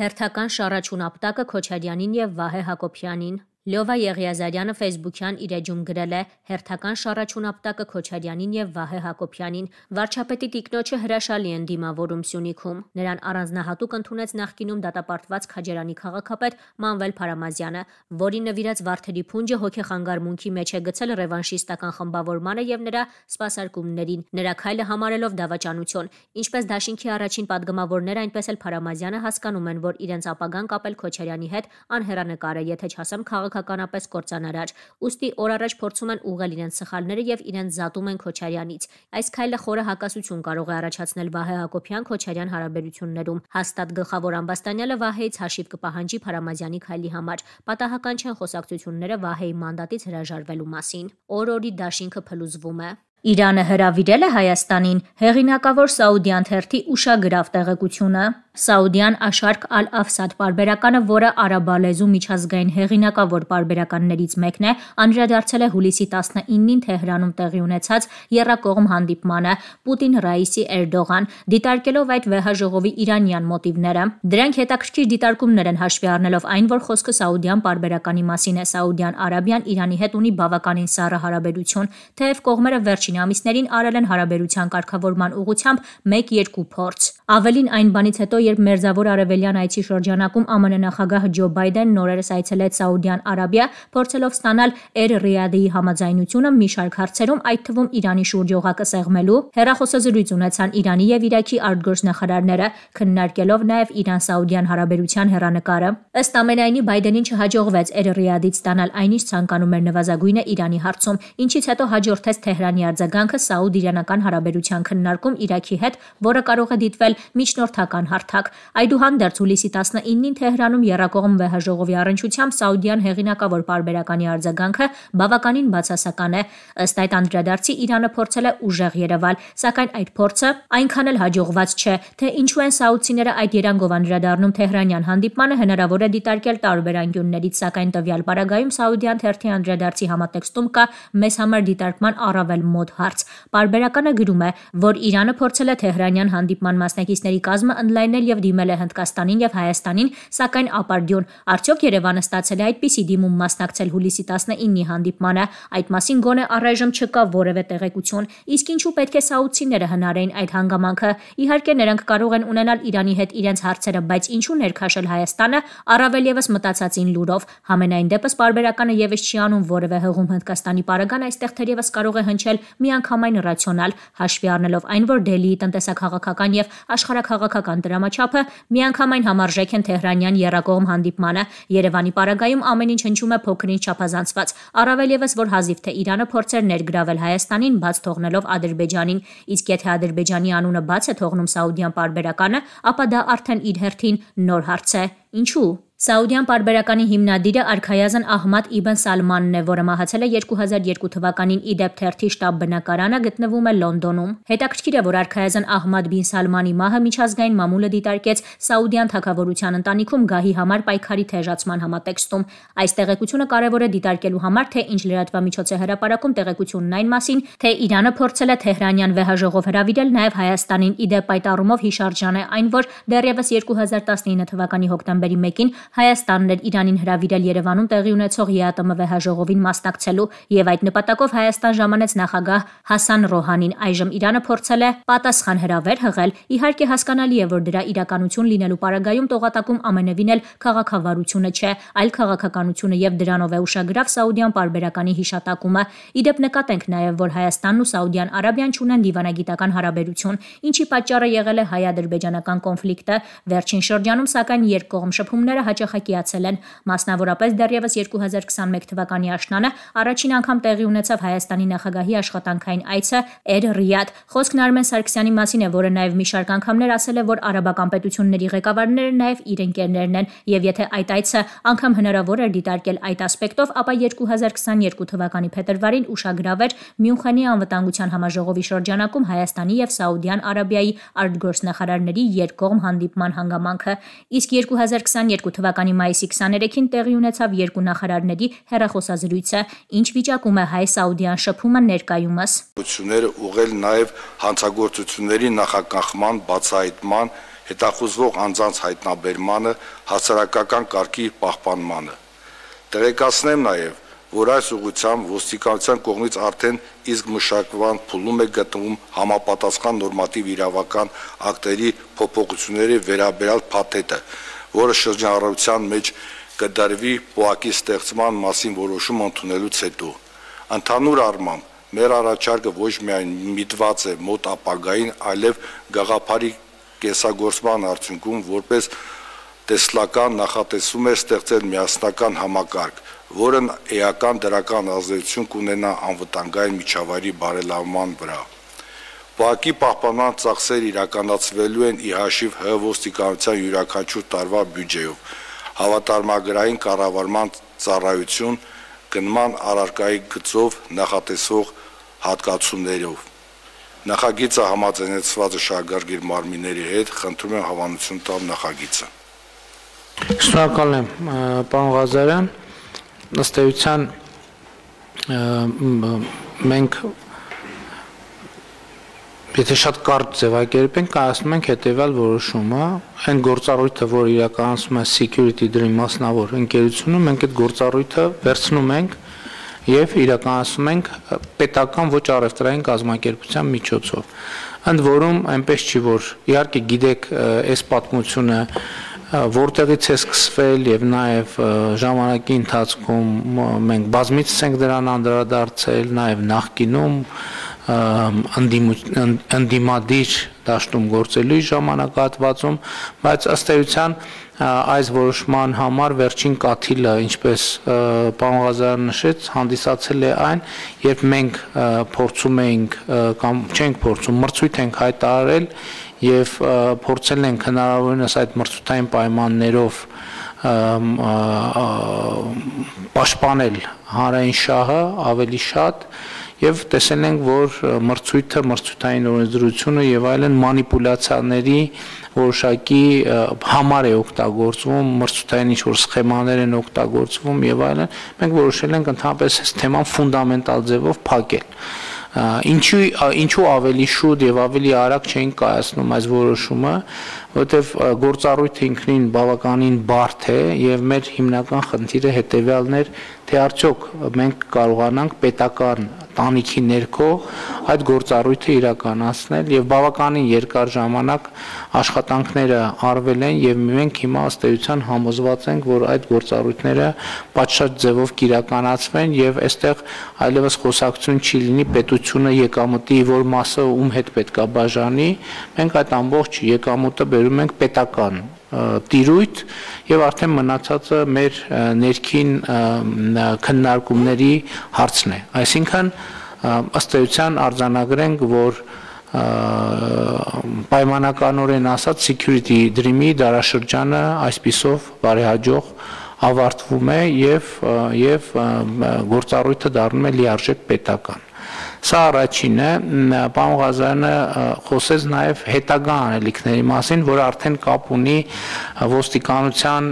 Հերթական շառաչուն ապտակը Քոչարյանին եւ Վահե Հակոբյանին։ Լյովա Եղիազարյանը Facebook-յան իր էջում գրել է. «Հերթական շառաչուն ապտակը Քոչարյանին եւ Վահե Հակոբյանին։ Վարչապետի տիկնոջը հրաշալի են դիմավորում Սյունիքում։ Նրան առանձնահատուկ ընդունեց նախկինում դատապարտված Քաջարանի քաղաքապետ Մանվել Փարամազյանը, որին նվիրած Վարդերի փունջը հոգեխանգարմունքի մեջ է գցել ռևանշիստական խմբավորմանը եւ նրա սպասարկումներին, նրա քայլը համարելով դավաճանություն։ Ինչպես դաշինքի առաջին պատգամավորները, այնպես էլ Փարամազյանը հասկանում են, որ իրենց ապագան կապել Քոչարյանի հետ անհեռանկար է, եթե չասեմ քաղաքականապես կործանարար։ Ուստի օր առաջ փորձում են ուղղել իրենց սխալները եւ իրենց զատում են Քոչարյանից։ Այս քայլը խորը հակասություն կարող է առաջացնել Վահե Հակոբյան-Քոչարյան հարաբերություններում։ Հաստատ գլխավոր ամբաստանյալը Վահեից հաշիվ կպահանջի Փարամազյանի քայլի համար։ Պատահական չեն խոսակցությունները Վահեի մանդատից հրաժարվելու մասին։ Օր-օրի դաշինքը փլուզվում է։ Իրանը հրավիրել է Հայաստանին հեղինակավոր Սաուդյան թերթի ուշագրավ տեղեկությունը։ Սաուդյան Աշարկ Ալ-Աֆսադ պարբերականը, որը արաբալեզու միջազգային հեղինակավոր պարբերականներից մեկն է, անդրադարձել է հուլիսի 19-ին Թեհրանում տեղի ունեցած եռակողմ հանդիպմանը Պուտին-Ռաիսի Էրդողան, դիտարկելով այդ վեհաժողովի իրանյան մոտիվները։ Դրանք հետաքրքիր դիտարկումներ են հաշվի առնելով այն, որ խոսքը Սաուդյան պարբերականի մասին է։ Սաուդյան Արաբիան Իրանի հետ ունի բավականին սառը հարաբերություն, թեև կողմերը վերջին ամիսներին արել են հարաբերության կարգավորման ուղղությամբ 1-2 փորձ։ Ավելին այն բանից հետո, երբ Մերձավոր Արևելյան այցի շրջանակում ԱՄՆ նախագահ Ջո Բայդենն նորերս այցելեց Սաուդյան Արաբիա, փորձելով ստանալ Էր-Ռիադի համաձայնությունը մի շարք հարցերում, այդ թվում Իրանի շուրջ օղակը սեղմելու, հեռախոսազրույց ունեցան Իրանի եւ Իրաքի արտգործնախարարները, քննարկելով նաեւ Իրան-Սաուդյան հարաբերության հեռանկարը։ Ըստ ամենայնի Բայդենին չհաջողվեց Էր-Ռիադից ստանալ այն, ինչ ցանկանում էր նվազագույնը Իրանի հարցում, ինչից հետո հաջորդեց Թեհրանի արձագանքը սաուդ-իրանական հարաբերության քննարկում Իրաքի հետ, որը կարող է դիտվել միջնորդական հարթակ։ Այդուհանդերձ հուլիսի 19-ին Թեհրանում եռակողմ վեհաժողովի առնչությամբ Սաուդյան հեղինակավոր պարբերականի արձագանքը բավականին բացասական է։ Ըստ այդ անդրադարձի Իրանը փորձել է ուժեղ երևալ, սակայն այդ փորձը այնքան էլ հաջողված չէ, թե ինչու են սաուդցիները այդ երանգով անդրադառնում Թեհրանյան հանդիպմանը հնարավոր է դիտարկել տարբեր անկյուններից, սակայն տվյալ պարագայում Սաուդյան թերթի անդրադարձի համատեքստում կա մեզ համար դիտարկման առավել մոտ հարց։ Պարբերականը գրում է, որ Իրանը փորձել է Թեհրանյան հանդիպման մասնակիցների կազմը ընդլայնել եւ դիմել է Հնդկաստանին եւ Հայաստանին, սակայն ապարդյուն։ Արդյոք Երևանը ստացել է այդպիսի դիմում մասնակցել հուլիսի 19-ի հանդիպմանը։ Այդ մասին գոնե առայժմ չկա որևէ տեղեկություն։ Իսկ ինչու պետք է սաուդցիները հնարեին այդ հանգամանքը։ Իհարկե նրանք կարող են ունենալ Իրանի հետ իրենց հարցերը, բայց ինչու ներքաշել Հայաստանը, առավել եւս մտածածին լուրով։ Համենայն դեպս պարբերականը եւս չի անում որևէ հղում Հնդկաստանի պարագան, այստեղ թերևս կարող է հնչել միանգամայն ռացիոնալ, հաշվի առնելով այն, որ Դելիի տնտեսաքաղաքական եւ աշխարհաքաղաքական դրամաչափը միանգամայն համարժեք են Թեհրանյան եռակողմ հանդիպմանը։ Երևանի պարագայում ամեն ինչ հնչում է փոքրինչ չափազանցված, առավել եւս որ հազիվ թե Իրանը փորձեր ներգրավել Հայաստանին, բաց թողնելով Ադրբեջանին, իսկ եթե Ադրբեջանի անունը բաց է թողնում Սաուդյան պարբերականը, ապա դա արդեն իր հերթին նոր հարց է։ Ինչու՞։ Սաուդյան պարբերականի հիմնադիրը արքայազն Ահմադ Իբն Սալմանն է, որը մահացել է 2002 թվականին Իդեբ թերթի շտաբ բնակարանը գտնվում է Լոնդոնում։ Հետաքրքիր է, որ արքայազն Ահմադ բին Սալմանի մահը միջազգային մամուլը դիտարկեց Սաուդյան թագավորության ընտանիքում գահի համար պայքարի թեժացման համատեքստում։ Այս տեղեկությունը կարևոր է դիտարկելու համար, թե ինչ լրատվամիջոց է հրապարակում տեղեկությունն այն մասին, թե Իրանը փորձել է Թեհրանյան վեհաժողով հրավիրել նաև Հայաստանին։ Իդեպ այդ առումով հիշարժան է այն, որ դեռևս 2019 թվականի հոկտեմբերի 1-ին Հայաստանն էր Իրանին հրավիրել Երևանում տեղի ունեցող ԵԱՏՄ վեհաժողովին մասնակցելու եւ այդ նպատակով Հայաստան ժամանեց նախագահ Հասան Ռոհանին։ Այժմ Իրանը փորձել է պատասխան հրավեր հղել։ Իհարկե հասկանալի է, որ դրա իրականություն լինելու պարագայում տողատակում ամենևին էլ քաղաքավարությունը չէ, այլ քաղաքականությունը եւ դրանով է ուշագրավ Սաուդյան պարբերականի հիշատակումը։ Իդեպ նկատենք նաեւ, որ Հայաստանն ու Սաուդյան Արաբիան չունեն դիվանագիտական հարաբերություն, ինչի պատճառը եղել է հայ-ադրբեջանական կոնֆլիկտը։ Վերջին շրջանում սակայն երկկողմ շփումները հաճախակիացել են, մասնավորապես դեռևս 2021 թվականի աշնանը առաջին անգամ տեղի ունեցավ Հայաստանի նախագահի աշխատանքային այցը Էր-Ռիադ։ Խոսքն Արմեն Սարգսյանի մասին է, որը նաև մի շարք անգամներ ասել է, որ արաբական պետությունների ղեկավարները նաև իր ընկերներն են, եւ եթե այդ այցը անգամ հնարավոր էր դիտարկել այդ ասպեկտով, ապա 2022 թվականի փետրվարին ուշագրավ էր Մյունխենի անվտանգության համաժողովի շրջանակում Հայաստանի եւ Սաուդյան Արաբիայի արտգործնախարարների երկկողմ հանդիպման հանգամանքը։ Իսկ 2022 թվականի մայիսի 23-ին տեղի ունեցավ երկու նախարարների հեռախոսազրույցը, ինչ վիճակում է հայ-սաուդյան շփումը ներկայումս։ Ուղղել նաև հանցագործությունների նախագահման, բացահայտման, հետախուզվող անձանց հայտնաբերմանը, հասարակական կարգի պահպանմանը։ Տեղեկացնեմ նաև, որ այս ուղղությամբ ոստիկանության կողմից արդեն իսկ մշակման փուլում է գտնվում համապատասխան նորմատիվ իրավական ակտերի փոփոխությունների վերաբերյալ փաթեթը, որը շրջանառության մեջ կդրվի ՊՕԱԿ-ի ստեղծման մասին որոշում ընդունելուց հետո։ Ընդհանուր առմամբ մեր առաջարկը ոչ միայն միտված է մոտ ապագային, այլև գաղափարի կեսագործման արդյունքում որպես տեսլական նախատեսում է ստեղծել միասնական համակարգ, որն էական դրական ազդեցություն կունենա անվտանգային միջավայրի բարելավման վրա։ ՊՕԱԿ-ի պահպանման ծախսերը իրականացվելու են ի հաշիվ ՀՀ ոստիկանության յուրաքանչյուր տարվա բյուջեով, հավատարմագրային կառավարման ծառայություն, գնման առարկայի գծով նախատեսվող հատկացումներով։ Նախագիծը համաձայնեցված է շահագրգիռ մարմինների հետ, խնդրում եմ հավանություն տալ նախագիծը։ Շնորհակալ եմ, պարոն Ղազարյան, ըստ էության մենք եթե շատ կարճ ձևակերպենք, կայացնում ենք հետևյալ որոշումը, այն գործառույթը, որ իրականացնում է Security Dream մասնավոր ընկերությունը, մենք այդ գործառույթը վերցնում ենք եւ իրականացնում ենք պետական ոչ առևտրային կազմակերպության միջոցով։ Ընդ որում այնպես չի, որ իհարկե գիտեք այս պատմությունը որտեղից է սկսվել եւ նաեւ ժամանակի ընթացքում մենք բազմիցս ենք դրան անդրադարձել, նաեւ նախկինում ընդդիմադիր դաշտում գործելու ժամանակահատվածում, բայց ըստ էության այս որոշման համար վերջին կաթիլը, ինչպես պարոն Ղազարյանը նշեց, հանդիսացել է այն, երբ մենք փորձում էինք կամ չենք փորձում, մրցույթ ենք հայտարարել եւ փորձել ենք հնարավորինս այդ մրցութային պայմաններով պաշտպանել հանրային շահը ավելի շատ եւ տեսել ենք, որ մրցույթը, մրցութային օրենսդրությունը եւ այլն մանիպուլյացիաների որոշակի համար է օգտագործվում, մրցութային ինչ-որ սխեմաներ են օգտագործվում եւ այլն, մենք որոշել ենք ընդհանրապես այս թեման ֆունդամենտալ ձևով փակել։ Ինչու ավելի շուտ եւ ավելի արագ չէին կայացնում այս որոշումը, որովհետեւ գործառույթը ինքնին բավականին բարդ է եւ մեր հիմնական խնդիրը հետեւյալն էր, թե արդյոք մենք կարողանանք պետական տանիքի ներքո այդ գործառույթը իրականացնել եւ բավականին երկար ժամանակ աշխատանքները արվել են եւ մենք հիմա ըստ էության համոզված ենք, որ այդ գործառույթները պատշաճ ձևով կիրականացվեն եւ այստեղ այլևս խոսակցություն չի լինի պետությունը եկամուտի որ մասը ում հետ պետքա բաժանի, մենք այդ ամբողջ եկամուտը բերում ենք պետական տիրույթ եւ արդեն մնացածը մեր ներքին քննարկումների հարցն է, այսինքն ըստ էության արձանագրենք, որ պայմանականորեն ասած Security Dream-ի դարաշրջանը այսպիսով բարեհաջող ավարտվում է եւ գործառույթը դառնում է լիարժեք պետական։ Սա առաջինը, պարոն Ղազարյանը խոսեց նաև հետագա անելիքների մասին, որը արդեն կապ ունի ոստիկանության